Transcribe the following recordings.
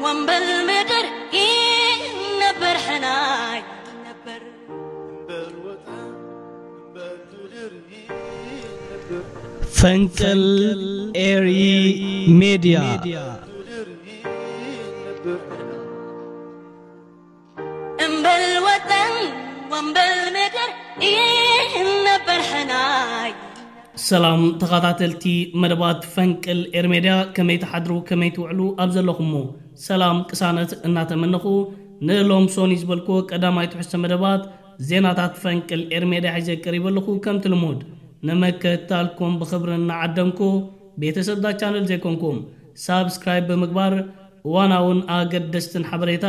ወንበል ምድር ይነበር ሕናይ ነበር። ፈንቅል ኤሪ ሜድያ። እምበል ወጠን ወንበል ምድር ይነበር ሕናይ። ሰላም ተኸታተልቲ መደባት ፈንቅል ኤር ሜድያ፣ ከመይ ትሓድሩ፣ ከመይ ትውዕሉ ኣብ ዘለኹሞ? ሰላም ቅሳነት እናተመነኹ፣ ንሎም ሶኒ ዝበልኩ ቀዳማይ ትሕዝቶ መደባት ዜናታት ፈንቅል ኤር ሜድያ ሒዘ ቀሪበ ኣለኹ። ከምቲ ልሙድ ንመከታልኩም ብኽብሪ እናዓደምኩ፣ ቤተሰብዳ ቻነል ዘይኮንኩም ሳብስክራይብ ብምግባር እዋናውን ኣገደስትን ሓበሬታ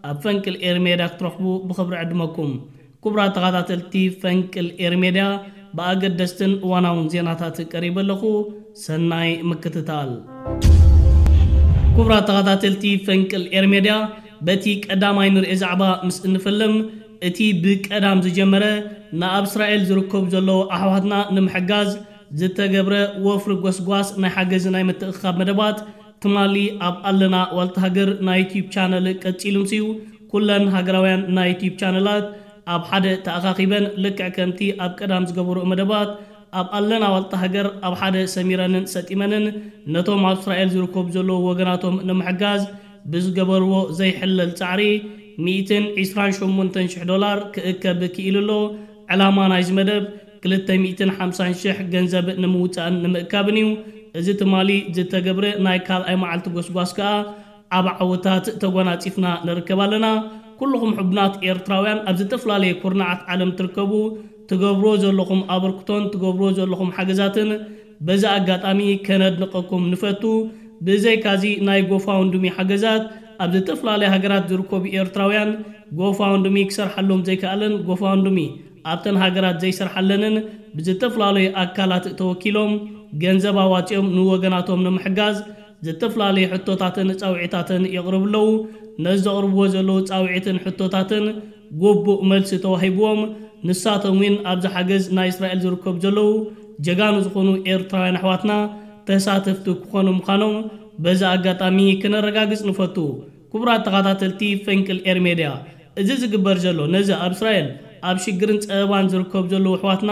ኣብ ፈንቅል ኤር ሜድያ ክትረኽቡ ብኽብሪ ዕድመኩም። ክቡራት ተኸታተልቲ ፈንቅል ኤር ሜድያ፣ ብኣገደስትን እዋናውን ዜናታት ቀሪበ ኣለኹ። ሰናይ ምክትታል። ክቡራት ተኸታተልቲ ፈንቅል ኤር ሜድያ፣ በቲ ቀዳማይ ንርእዮ ዛዕባ ምስ እንፍልም፣ እቲ ብቀዳም ዝጀመረ ንኣብ እስራኤል ዝርከቡ ዘለዉ ኣሕዋትና ንምሕጋዝ ዝተገብረ ወፍሪ ጎስጓስ ናይ ሓገዝ ናይ ምትእኽኻብ መደባት ትማሊ ኣብ ኣለና ዋልታ ሃገር ናይ ዩትዩብ ቻነል ቀጺሉ ምስዩ፣ ኩለን ሃገራውያን ናይ ዩትዩብ ቻነላት ኣብ ሓደ ተኣኻኺበን፣ ልክዕ ከምቲ ኣብ ቀዳም ዝገበርኦ መደባት ኣብ ኣለና ዋልታ ሃገር ኣብ ሓደ ሰሚረንን ሰጢመንን ነቶም ኣብ እስራኤል ዝርከቡ ዘለዉ ወገናቶም ንምሕጋዝ ብዝገበርዎ ዘይሕለል ጻዕሪ ሚእትን ዕስራን ሸሞንተን ሽሕ ዶላር ክእከብ ክኢሉ ኣሎ። ዕላማ ናይዚ መደብ ክልተ ሚእትን ሓምሳን ሽሕ ገንዘብ ንምውጻእን ንምእካብን እዩ። እዚ ትማሊ ዝተገብረ ናይ ካልኣይ መዓልቲ ጎስጓስ ከኣ ዓቢ ዓወታት ተጓናጺፍና ንርከብ ኣለና። ኩልኹም ሕቡናት ኤርትራውያን ኣብ ዝተፈላለየ ኩርናዓት ዓለም ትርከቡ፣ ትገብርዎ ዘለኹም ኣበርክቶን ትገብርዎ ዘለኹም ሓገዛትን በዚ ኣጋጣሚ ከነድንቐኩም ንፈቱ። ብዘይካዚ ናይ ጎፋውንድሚ ሓገዛት ኣብ ዝተፈላለየ ሃገራት ዝርከቡ ኤርትራውያን ጎፋውንድሚ ክሰርሓሎም ዘይከኣለን ጎፋውንድሚ ኣብተን ሃገራት ዘይሰርሓለንን ብዝተፈላለዩ ኣካላት ተወኪሎም ገንዘብ ኣዋጺኦም ንወገናቶም ንምሕጋዝ ዝተፈላለዩ ሕቶታትን ጻውዒታትን የቕርቡ ኣለዉ። ነዚ ዘቕርብዎ ዘለዉ ጻውዒትን ሕቶታትን ግቡእ መልሲ ተዋሂብዎም፣ ንሳቶም እውን ኣብዚ ሓገዝ ናይ እስራኤል ዝርከቡ ዘለዉ ጀጋኑ ዝኾኑ ኤርትራውያን ኣሕዋትና ተሳተፍቲ ክኾኑ ምዃኖም በዚ ኣጋጣሚ ክነረጋግጽ ንፈቱ። ክቡራት ተኸታተልቲ ፈንቅል ኤር ሜድያ፣ እዚ ዝግበር ዘሎ ነዚ ኣብ እስራኤል ኣብ ሽግርን ጸበባን ዝርከቡ ዘለዉ ኣሕዋትና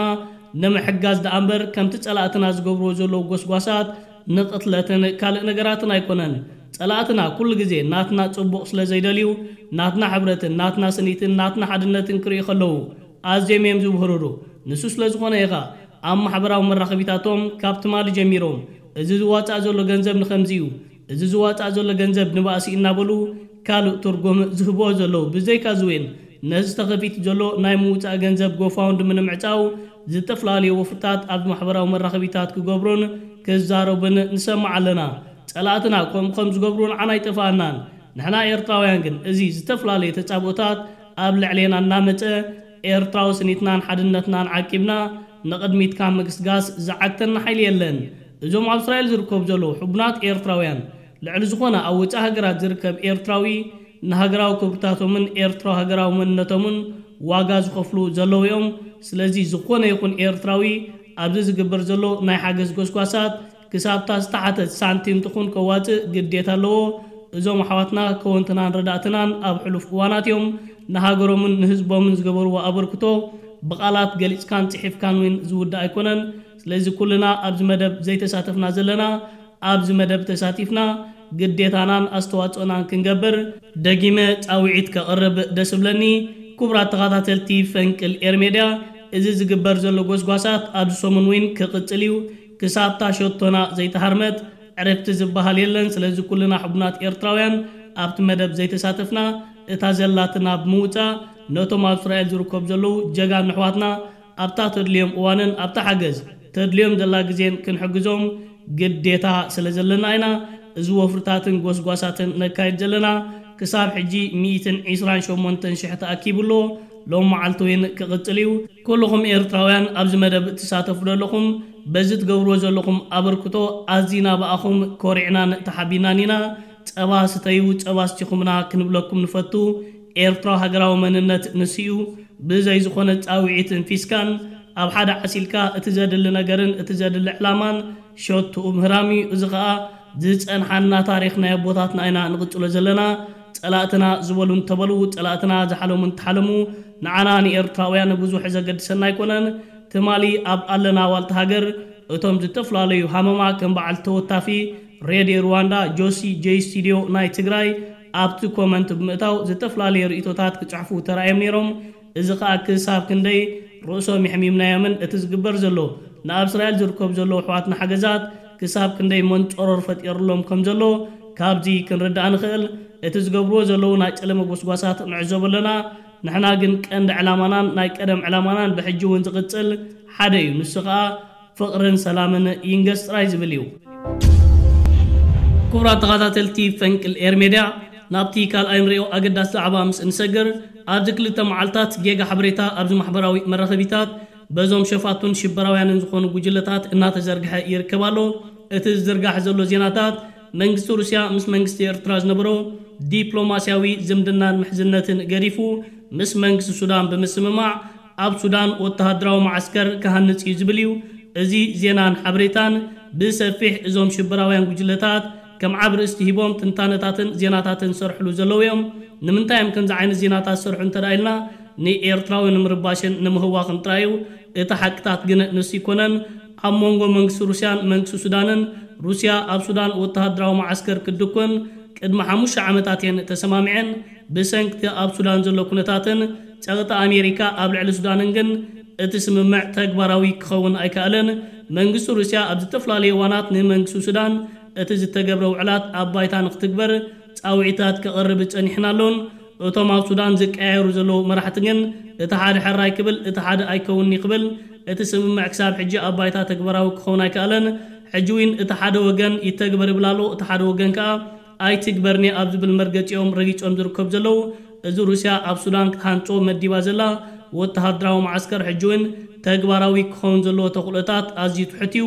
ንምሕጋዝ ደኣ እምበር፣ ከምቲ ጸላእትና ዝገብርዎ ዘለዉ ጎስጓሳት ንቕትለትን ካልእ ነገራትን ኣይኮነን። ጸላእትና ኩሉ ግዜ ናትና ጽቡቕ ስለ ዘይደልዩ፣ ናትና ሕብረትን ናትና ስኒትን ናትና ሓድነትን ክርእዩ ከለዉ ኣዝዮም እዮም ዝብህርሩ። ንሱ ስለ ዝኾነ ኢኻ ኣብ ማሕበራዊ መራኸቢታቶም ካብ ትማሊ ጀሚሮም፣ እዚ ዝዋጻእ ዘሎ ገንዘብ ንኸምዚ እዩ፣ እዚ ዝዋጻእ ዘሎ ገንዘብ ንባእሲ እናበሉ ካልእ ትርጉም ዝህብዎ ዘለዉ። ብዘይካ እዚ እውን ነዚ ተኸፊቱ ዘሎ ናይ ምውጻእ ገንዘብ ጎፋውንድሚ ንምዕጻው ዝተፈላለዩ ወፍርታት ኣብ ማሕበራዊ መራኸቢታት ክገብሩን ክዛረቡን ንሰምዕ ኣለና። ጸላእትና ከምኡ ከም ዝገብሩ ንዓና ኣይጠፍኣናን። ንሕና ኤርትራውያን ግን እዚ ዝተፈላለየ ተጻብኦታት ኣብ ልዕሌና እናመጸ ኤርትራዊ ስኒትናን ሓድነትናን ዓቂብና ንቕድሚት ካብ ምግስጋስ ዝዓግተና ሓይሊ የለን። እዞም ኣብ እስራኤል ዝርከቡ ዘለዉ ሕቡናት ኤርትራውያን ልዕሊ ዝኾነ ኣብ ወጻኢ ሃገራት ዝርከብ ኤርትራዊ ንሃገራዊ ክብርታቶምን ኤርትራዊ ሃገራዊ መንነቶምን ዋጋ ዝኸፍሉ ዘለዉ እዮም። ስለዚ ዝኾነ ይኹን ኤርትራዊ ኣብዚ ዝግበር ዘሎ ናይ ሓገዝ ጎስጓሳት ክሳብታ ዝተሓተት ሳንቲም ትኹን ከዋጽእ ግዴታ ኣለዎ። እዞም ኣሕዋትና ከወንትናን ረዳእትናን ኣብ ሕሉፍ እዋናት እዮም ንሃገሮምን ንህዝቦምን ዝገበርዎ ኣበርክቶ ብቓላት ገሊጽካን ጽሒፍካን እውን ዝውዳእ ኣይኮነን። ስለዚ ኩልና ኣብዚ መደብ ዘይተሳተፍና ዘለና ኣብዚ መደብ ተሳቲፍና ግዴታናን ኣስተዋጽኦናን ክንገብር ደጊመ ጻውዒት ከቕርብ ደስ እብለኒ። ክቡራት ተኸታተልቲ ፈንቅል ኤር ሜድያ፣ እዚ ዝግበር ዘሎ ጎስጓሳት ኣብዚ ሰሙን እውን ክቕጽል እዩ። ክሳብታ ሸቶና ዘይተሃርመት ዕረፍቲ ዝበሃል የለን። ስለዚ ኩልና ሕቡናት ኤርትራውያን ኣብቲ መደብ ዘይተሳተፍና እታ ዘላትና ብምውጻእ ነቶም ኣብ እስራኤል ዝርከቡ ዘለዉ ጀጋኑ ኣሕዋትና ኣብታ ተድልዮም እዋንን ኣብታ ሓገዝ ተድልዮም ዘላ ግዜን ክንሕግዞም ግዴታ ስለ ዘለና ኢና እዚ ወፍርታትን ጎስጓሳትን ነካይድ ዘለና። ክሳብ ሕጂ ሚእትን ዕስራን ሸሞንተን ሽሕ ተኣኪቡ ኣሎ። ሎም መዓልቲ እውን ክቕጽል እዩ። ኩልኹም ኤርትራውያን ኣብዚ መደብ እትሳተፉ ዘለኹም በዚ ትገብርዎ ዘለኹም ኣበርክቶ ኣዚና ብኣኹም ኮሪዕናን ተሓቢናን ኢና። ጸባ ስተዩ፣ ጸባ ኣስቲኹምና ክንብለኩም ንፈቱ። ኤርትራዊ ሃገራዊ መንነት ንሱ እዩ። ብዘይ ዝኾነ ጻውዒትን ፊስካን ኣብ ሓደ ዓሲልካ እቲ ዘድሊ ነገርን እቲ ዘድሊ ዕላማን ሸትኡ ምህራም እዩ። እዚ ኸኣ ዝጸንሓና ታሪኽ ናይ ኣቦታትና ኢና ንቕጽሎ ዘለና። ጸላእትና ዝበሉ እንተበሉ፣ ጸላእትና ዝሓለሙ እንተሓለሙ፣ ንዓና ንኤርትራውያን ብዙሕ ዘገድሰና ኣይኮነን። ትማሊ ኣብ ኣለና ዋልታ ሃገር እቶም ዝተፈላለዩ ሃመማ ከም በዓል ተወታፊ ሬድዮ ሩዋንዳ ጆሲ ጄ ስቱዲዮ ናይ ትግራይ ኣብቲ ኮመንት ብምእታው ዝተፈላለዩ ርእይቶታት ክጽሕፉ ተራእዮም ነይሮም። እዚ ኸኣ ክሳብ ክንደይ ርእሶም የሕሚምናዮምን እቲ ዝግበር ዘሎ ንኣብ እስራኤል ዝርከቡ ዘለዉ ኣሕዋትና ሓገዛት ክሳብ ክንደይ መንጸሮር ፈጢርሎም ከም ዘሎ ካብዚ ክንርዳእ ንኽእል። እቲ ዝገብርዎ ዘለዉ ናይ ጨለመ ጎስጓሳት ንዕዘቦ ኣለና። ንሕና ግን ቀንዲ ዕላማናን ናይ ቀደም ዕላማናን ብሕጂ እውን ዝቕጽል ሓደ እዩ። ንሱ ኸኣ ፍቕርን ሰላምን ይንገስ ጥራይ ዝብል እዩ። ክቡራት ተኸታተልቲ ፈንቅል ኤር ሜድያ፣ ናብቲ ካልኣይ ንሪኦ ኣገዳሲ ዛዕባ ምስ እንሰግር፣ ኣብዚ ክልተ መዓልታት ጌጋ ሓበሬታ ኣብዚ ማሕበራዊ መራኸቢታት በዞም ሸፋቱን ሽበራውያንን ዝኾኑ ጉጅለታት እናተዘርግሐ ይርከብ ኣሎ። እቲ ዝዝርጋሕ ዘሎ ዜናታት መንግስቲ ሩስያ ምስ መንግስቲ ኤርትራ ዝነበሮ ዲፕሎማስያዊ ዝምድናን ምሕዝነትን ገዲፉ፣ ምስ መንግስቲ ሱዳን ብምስምማዕ ኣብ ሱዳን ወተሃደራዊ መዓስከር ክሃንጽ እዩ ዝብል እዩ። እዚ ዜናን ሓበሬታን ብሰፊሕ እዞም ሽበራውያን ጉጅለታት ከም ዓብ ርእስቲ ሂቦም ትንታነታትን ዜናታትን ዝሰርሕሉ ዘለዉ እዮም። ንምንታይ እዮም ከምዚ ዓይነት ዜናታት ዝሰርሑ እንተ ደኣ ኢልና፣ ንኤርትራዊ ንምርባሽን ንምህዋኽን ጥራይ እዩ። እቲ ሓቅታት ግን ንሱ ኣይኮነን። ኣብ መንጎ መንግስቲ ሩስያን መንግስቲ ሱዳንን፣ ሩስያ ኣብ ሱዳን ወተሃደራዊ መዓስከር ክትድኩን ቅድሚ ሓሙሽተ ዓመታት እየን ተሰማሚዐን። ብሰንክቲ ኣብ ሱዳን ዘሎ ኩነታትን ጸቕጢ ኣሜሪካ ኣብ ልዕሊ ሱዳንን ግን እቲ ስምምዕ ተግባራዊ ክኸውን ኣይከኣለን። መንግስቲ ሩስያ ኣብ ዝተፈላለዩ እዋናት ንመንግስቲ ሱዳን እቲ ዝተገብረ ውዕላት ኣብ ባይታ ንክትግበር ጻውዒታት ከቕርብ ጸኒሕን ኣሎን። እቶም ኣብ ሱዳን ዝቀያየሩ ዘለዉ መራሕቲ ግን እቲ ሓደ ሕራይ ክብል፣ እቲ ሓደ ኣይከውንኒ ክብል፣ እቲ ስምምዕ ክሳብ ሕጂ ኣብ ባይታ ተግባራዊ ክኸውን ኣይከኣለን። ሕጂ እውን እቲ ሓደ ወገን ይተግበር ይብል ኣሎ፣ እቲ ሓደ ወገን ከኣ ኣይትግበርኒ ኣብ ዝብል መርገጺኦም ረጊጾም ዝርከቡ ዘለዉ፣ እዚ ሩስያ ኣብ ሱዳን ክትሃንጾ መዲባ ዘላ ወተሃደራዊ መዓስከር ሕጂ እውን ተግባራዊ ክኸውን ዘለዎ ተኽእሎታት ኣዝዩ ትሑት እዩ።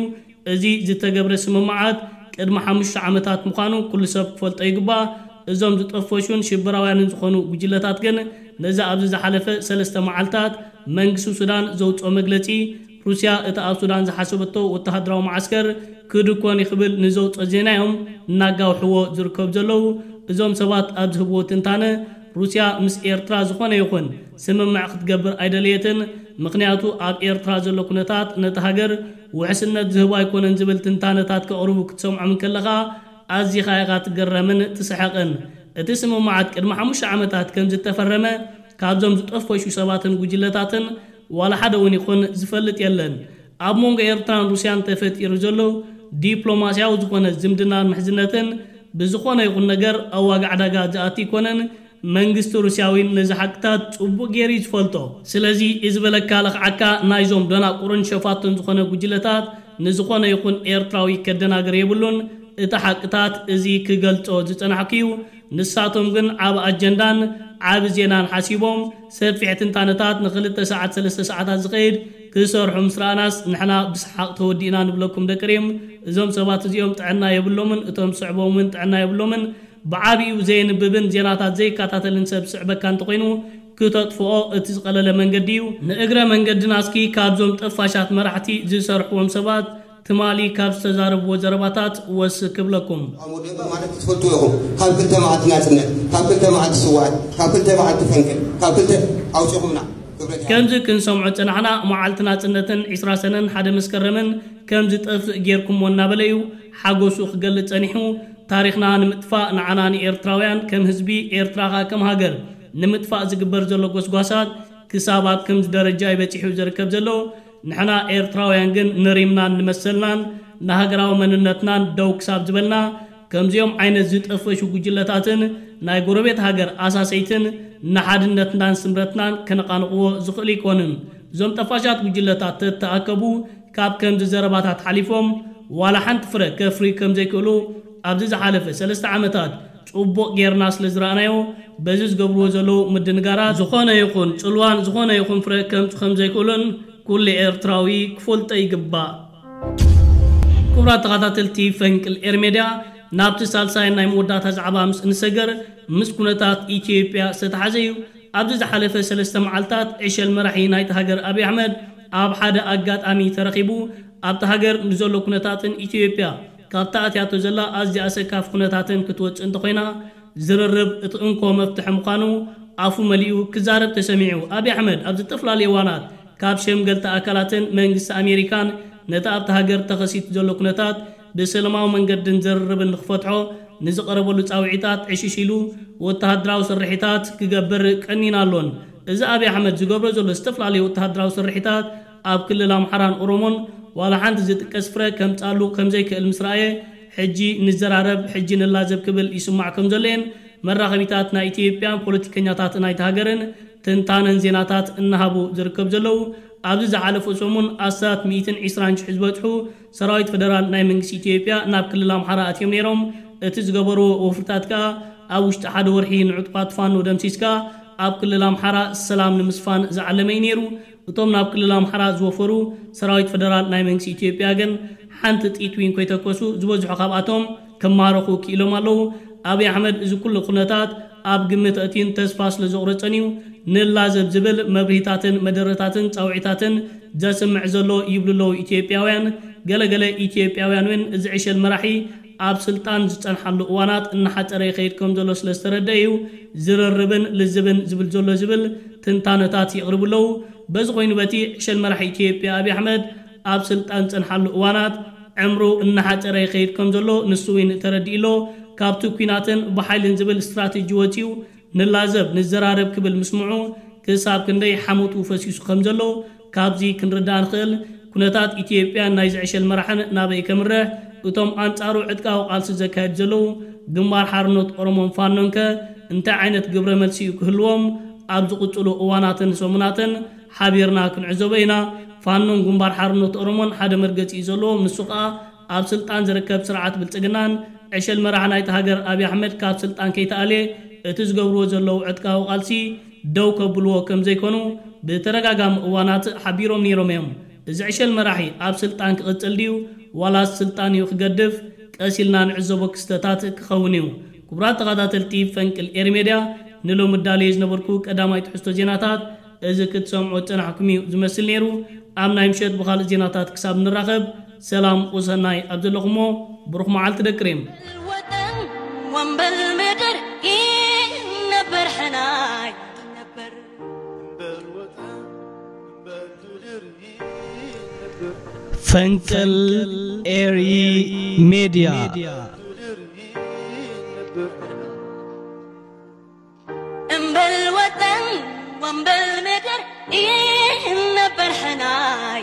እዚ ዝተገብረ ስምምዓት ቅድሚ ሓሙሽተ ዓመታት ምዃኑ ኩሉ ሰብ ክፈልጦ ይግባእ። እዞም ዝጠፈሹን ሽበራውያንን ዝኾኑ ጉጅለታት ግን ነዚ ኣብዚ ዝሓለፈ ሰለስተ መዓልታት መንግስቲ ሱዳን ዘውጽኦ መግለጺ፣ ሩስያ እቲ ኣብ ሱዳን ዝሓሰበቶ ወተሃደራዊ መዓስከር ክድኮን እዩ ክብል ንዘውጽኦ ዜና እዮም እናጋውሕዎ ዝርከቡ ዘለዉ። እዞም ሰባት ኣብ ዝህብዎ ትንታነ፣ ሩስያ ምስ ኤርትራ ዝኾነ ይኹን ስምምዕ ክትገብር ኣይደለየትን። ምኽንያቱ ኣብ ኤርትራ ዘሎ ኩነታት ነቲ ሃገር ውሕስነት ዝህብ ኣይኮነን ዝብል ትንታነታት ከቕርቡ ክትሰምዖም እንከለኻ ኣዚኻ ኢኻ ትግረምን ትስሕቕን። እቲ ስምምዓት ቅድሚ ሓሙሽተ ዓመታት ከም ዝተፈረመ ካብዞም ዝጠፈሹ ሰባትን ጉጅለታትን ዋላ ሓደ እውን ይኹን ዝፈልጥ የለን። ኣብ መንጎ ኤርትራን ሩስያን ተፈጢሩ ዘሎ ዲፕሎማስያዊ ዝኾነ ዝምድናን ምሕዝነትን ብዝኾነ ይኹን ነገር ኣብ ዋጋ ዕዳጋ ዝኣቲ ኣይኮነን። መንግስቲ ሩስያ እውን ነዚ ሓቅታት ጽቡቕ ገይሩ እዩ ዝፈልጦ። ስለዚ እዚ በለካ ለኽዓካ ናይዞም ደናቁርን ሸፋቱን ዝኾነ ጉጅለታት ንዝኾነ ይኹን ኤርትራዊ ከደናግር የብሉን። እቲ ሓቅታት እዚ ክገልጾ ዝጸናሕኩ እዩ። ንሳቶም ግን ዓቢ ኣጀንዳን ዓቢ ዜናን ሓሲቦም ሰፊሕ ትንታነታት ንኽልተ ሰዓት ሰለስተ ሰዓታት ዝኸይድ ክሰርሑ ምስ ረኣናስ ንሕና ብሰሓቕ ተወዲእና ንብለኩም ደቂ ሪም። እዞም ሰባት እዚኦም ጥዕና የብሎምን፣ እቶም ዝስዕቦም እውን ጥዕና የብሎምን። ብዓቢኡ ዘየንብብን ዜናታት ዘይከታተልን ሰብ ዝስዕበካ እንተኾይኑ ክተጥፍኦ እቲ ዝቐለለ መንገዲ እዩ። ንእግረ መንገድና እስኪ ካብዞም ጠፋሻት መራሕቲ ዝሰርሕዎም ሰባት ትማሊ ካብ ዝተዛረብዎ ዘረባታት ወስ ክብለኩም። ኣብ ወደባ ማለት ትፈልጡ ኢኹም። ካብ ክልተ መዓልቲ ናጽነት፣ ካብ ክልተ መዓልቲ ስዋኣት፣ ካብ ክልተ መዓልቲ ፈንቅል፣ ካብ ክልተ ኣውጺኹምና። ክብረት ይሃብ። ከምዚ ክንሰምዖ ጸናሕና፣ መዓልቲ ናጽነትን ዕስራ ሰነን ሓደ መስከረምን ከም ዝጠፍእ ጌርኩሞ እናበለ እዩ ሓጎሱ ክገልጽ ጸኒሑ። ታሪኽና ንምጥፋእ፣ ንዓና ንኤርትራውያን ከም ህዝቢ፣ ኤርትራ ከኣ ከም ሃገር ንምጥፋእ ዝግበር ዘሎ ጎስጓሳት ክሳብ ኣብ ከምዚ ደረጃ እዩ በጺሑ ዝርከብ ዘሎ። ንሕና ኤርትራውያን ግን ንሪምናን ንመሰልናን ንሃገራዊ መንነትናን ደው ክሳብ ዝበልና፣ ከምዚኦም ዓይነት ዝጠፈሹ ጉጅለታትን ናይ ጎረቤት ሃገር ኣሳሰይትን ንሓድነትናን ስምረትናን ከነቓንቕዎ ዝኽእል ኣይኮንን። እዞም ጠፋሻት ጉጅለታት ተተኣከቡ ካብ ከምዚ ዘረባታት ሓሊፎም ዋላ ሓንቲ ፍረ ከፍርዩ ከም ዘይክእሉ ኣብዚ ዝሓለፈ ሰለስተ ዓመታት ጽቡቕ ጌርና ስለ ዝረኣናዮ፣ በዚ ዝገብርዎ ዘለዉ ምድንጋራት ዝኾነ ይኹን ጽልዋን ዝኾነ ይኹን ፍረ ከምጹ ከም ዘይክእሉን ኩሉ ኤርትራዊ ክፈልጦ ይግባእ። ክቡራት ተኸታተልቲ ፈንቅል ኤር ሜድያ፣ ናብቲ ሳልሳይ ናይ መወዳእታ ዛዕባ ምስ እንሰገር፣ ምስ ኩነታት ኢትዮጵያ ዝተሓሓዘ እዩ። ኣብዚ ዝሓለፈ ሰለስተ መዓልታት ዕሸል መራሒ ናይቲ ሃገር ኣብይ ኣሕመድ ኣብ ሓደ ኣጋጣሚ ተረኺቡ ኣብቲ ሃገር ንዘሎ ኩነታትን ኢትዮጵያ ካብታ ኣትያቶ ዘላ ኣዝያ ኣሰካፊ ኩነታትን ክትወጽእ እንተኾይና፣ ዝርርብ እቲ እንኮ መፍትሒ ምዃኑ ኣፉ መሊኡ ክዛረብ ተሰሚዑ። ኣብይ ኣሕመድ ኣብ ዝተፈላለዩ እዋናት ካብ ሸምገልቲ ኣካላትን መንግስቲ ኣሜሪካን ነቲ ኣብቲ ሃገር ተኸሲቱ ዘሎ ኩነታት ብሰላማዊ መንገድን ዝርርብን ንክፈትሖ ንዝቐረበሉ ጻውዒታት ዕሽሽ ኢሉ ወተሃደራዊ ስርሒታት ክገብር ቀኒን ኣሎን። እዚ ኣብይ ኣሕመድ ዝገብሮ ዘሎ ዝተፈላለዩ ወተሃደራዊ ስርሒታት ኣብ ክልል ኣምሓራን ኦሮሞን ዋላ ሓንቲ ዝጥቀስ ፍረ ከምጻሉ ከምዘይክእል ምስ ረኣየ፣ ሕጂ ንዘራረብ፣ ሕጂ ንላዘብ ክብል ይስማዕ ከም ዘሎየን መራኸቢታት ናይ ኢትዮጵያን ፖለቲከኛታት ናይቲ ሃገርን ትንታነን ዜናታት እናሃቡ ዝርከብ ዘለዉ። ኣብዚ ዝሓለፈ ሰሙን ኣስታት ሚእትን ዕስራን ሽሕ ዝበጽሑ ሰራዊት ፈደራል ናይ መንግስቲ ኢትዮጵያ ናብ ክልል ኣምሓራ ኣትዮም ነይሮም። እቲ ዝገበርዎ ወፍርታት ከኣ ኣብ ውሽጢ ሓደ ወርሒ ንዕጡቓት ፋኖ ደምሲስካ ኣብ ክልል ኣምሓራ ሰላም ንምስፋን ዝዓለመ እዩ ነይሩ። እቶም ናብ ክልል ኣምሓራ ዝወፈሩ ሰራዊት ፈደራል ናይ መንግስቲ ኢትዮጵያ ግን ሓንቲ ጥይት እውን ከይተኮሱ ዝበዝሑ ካብኣቶም ክማረኹ ክኢሎም ኣለዉ። ኣብይ ኣሕመድ እዚ ኩሉ ኩነታት ኣብ ግምት ኣእትዩን ተስፋ ስለ ዘቑረጸን እዩ ንላዘብ ዝብል መብርሂታትን መደረታትን ጻውዒታትን ዘስምዕ ዘሎ ይብሉ ኣለዉ ኢትዮጵያውያን። ገለገለ ኢትዮጵያውያን እውን እዚ ዕሸል መራሒ ኣብ ስልጣን ዝጸንሓሉ እዋናት እናሓጸረ ይኸይድ ከም ዘሎ ስለ ዝተረድአ እዩ ዝርርብን ልዝብን ዝብል ዘሎ ዝብል ትንታነታት የቕርቡ ኣለዉ። በዚ ኮይኑ በቲ ዕሸል መራሒ ኢትዮጵያ ኣብይ ኣሕመድ ኣብ ስልጣን ዝጸንሓሉ እዋናት ዕምሩ እናሓጸረ ይኸይድ ከም ዘሎ ንሱ እውን ተረዲኡ ኣሎ። ካብቲ ኲናትን ብሓይልን ዝብል ስትራቴጂ ወጺኡ ንላዘብ ንዘራረብ ክብል ምስምዑ ክሳብ ክንደይ ሓሞቱ ፈሲሱ ከም ዘሎ ካብዚ ክንርዳእ ንኽእል። ኩነታት ኢትዮጵያን ናይ ዝዕሸል መራሕን ናበይ ከምርሕ፣ እቶም ኣንጻሩ ዕጥቃዊ ቃልሲ ዘካየዱ ዘለዉ ግንባር ሓርነት ኦሮሞን ፋኖን ከ እንታይ ዓይነት ግብረ መልሲ እዩ ክህልዎም? ኣብ ዝቕጽሉ እዋናትን ሰሙናትን ሓቢርና ክንዕዘቦ ኢና። ፋኖን ግንባር ሓርነት ኦሮሞን ሓደ መርገጺ እዩ ዘለዎም። ንሱ ከኣ ኣብ ስልጣን ዝርከብ ስርዓት ብልጽግናን ዕሸል መራሕ ናይቲ ሃገር ኣብይ ኣሕመድ ካብ ስልጣን ከይተኣልየ እቲ ዝገብርዎ ዘለዉ ዕጥቃዊ ቃልሲ ደው ከብልዎ ከም ዘይኮኑ ብተደጋጋሚ እዋናት ሓቢሮም ነይሮም እዮም። እዚ ዕሸል መራሒ ኣብ ስልጣን ክቕጽል ድዩ ዋላስ ስልጣን እዩ ክገድፍ? ቀስ ኢልና ንዕዘቦ ክስተታት ክኸውን እዩ። ክቡራት ተኸታተልቲ ፈንቅል ኤሪ ሜድያ፣ ንሎሚ እዳለየ ዝነበርኩ ቀዳማይ ትሕዝቶ ዜናታት እዚ ክትሰምዖ ዝጸናሕኩም እዩ ዝመስል ነይሩ። ኣብ ናይ ምሸት ብኻልእ ዜናታት ክሳብ ንራኸብ ሰላም ወሰናይ ኣብ ዘለኹሞ ብሩኽ መዓልቲ ደቂ ሬም። ወጠን ወንበል ምድር ይነበር ሕናይ ነበር ፈንቅል ኤሪ ሜድያ። እምበል ወጠን ወንበል ምድር ይነበር ሕናይ